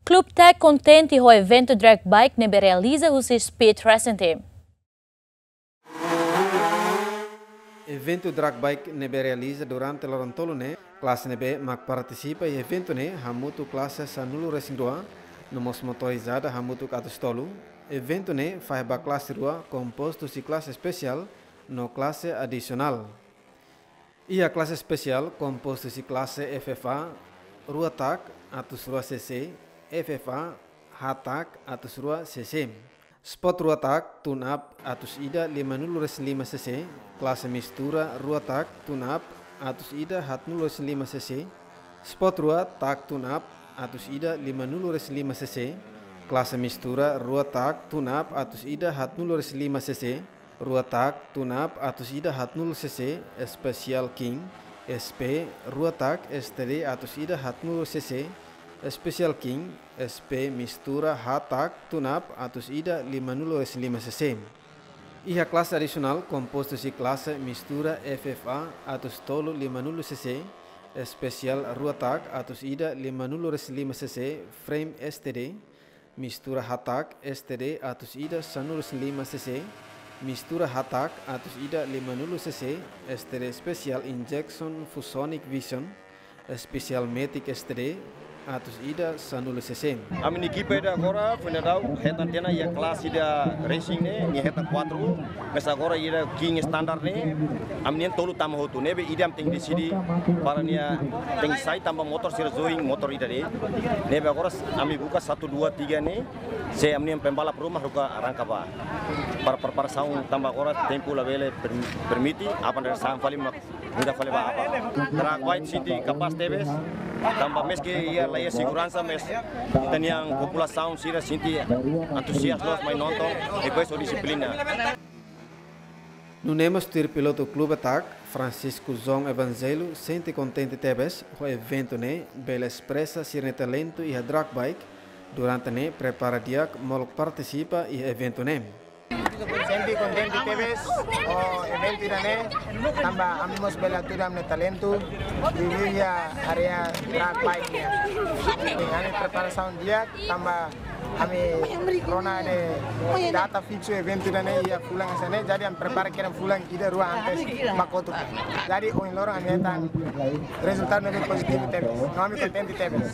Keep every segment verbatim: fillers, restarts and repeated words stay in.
Klub Tech kontente ho eventu drag bike ne'ebé realiza husi Speed Racing Team. Eventu drag bike ne'ebé realiza durante loron tolu ne'e, klase ne'ebé mak partisipa iha eventu ne'e hamutuk klase sanulu-resin-rua, no mós motorizada hamutuk atus tolu. Eventu ne'e fahe ba klase rua, kompostu husi klase espesiál no klase adisionál. Iha klase espesiál kompostu husi klase F F A rua tak atus rua C C, F F A haat tak atus rua C C. Sport rua tak tune-up atus ida limanulu-resin-lima C C, klase mistura rua tak tune-up atus ida haatnulu-resin-lima C C, sport rua tak tune-up atus ida limanulu-resin-lima C C, klase mistura rua tak tune-up atus ida haatnulu-resin-lima C C, rua tak tune-up atus ida haatnulu C C, Special King, S P, rua tak S T D atus ida haatnulu C C, Special King, S P mistura haat tak tune-up atus ida limanulu-resin-lima C C. Iha klase adisionál kompostu husi klase mistura F F A atus tolu limanulu C C, Special rua tak atus ida limanulu-resin-lima C C, Frame S T D, mistura haat tak S T D atus ida sanulu-resin-lima C C, mistura haat tak atus ida limanulu C C, S T D Special Injection Fusonic Vision, Special Matic S T D atus ida sanulu C C. Ami-nia ekipa ida agora, foin dadauk, hetan tiha ona iha klase ida racing ne'e, nia hetan kuatru, mais agora ida King standar ne'e, ami-nian tolu tama hotu, ne'ebé ida ami tenke deside para nia tenke sai tanba motór sira join motór ida de'it. Ne'ebé agora ami buka satu, dua, tiga ne'e, se ami-nian pembalap ruma haruka arranka bá. Para preparasaun tanba agora tempu labele per-, permite, aban dari san fali mak muda fali bá aban. Drag bike sente kapás tebes, tanba meski iha la iha seguransa, mais ita-nia populasaun sira sente antuziasmu mai nonton, depois ho dixiplina. Nune'e mós tuir pilotu Klub Attack, Francisco João Evangelho, sente kontente tebes ho eventu ne'e bele espresa sira-nia talentu iha drag bike, durante ne'e prepara di'ak molok partisipa iha eventu ne'e. Sente kontente tebes ho eventu ida-ne'e, tanba ami mós bele hatudu ami-nia talentu iha área drag bike nian. Ami preparasaun di'ak, tanba ami rona de'it data fiksu eventu ida-ne'e iha fulan hanesan ne'e, jadi ami prepara kedas fulan ida rua antes mak kotuk. Jadi ohin loron ami hetan rezultadu ne'ebé pozitivu tebes. No ami kontente tebes.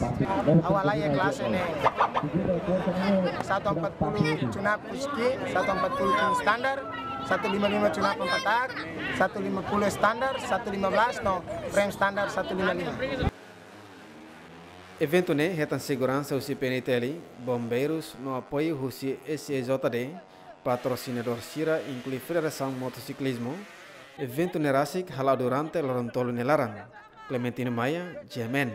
Ha'u halai iha klase ne'e satu empat puluh tune-up husi King, satu empat puluh King standar, satu lima lima tune-up empat tak, satu lima puluh standar, satu lima belas no frame standar satu lima lima. Eventu ne'e hetan seguransa husi P N T L, Bombeirus no apoiu husi S E J D, patrosinadór sira inklui Federasaun Motosiklizmu. Eventu ne'e rasik hala'o durante loron tolu nia laran. Clementino Maia, G M N.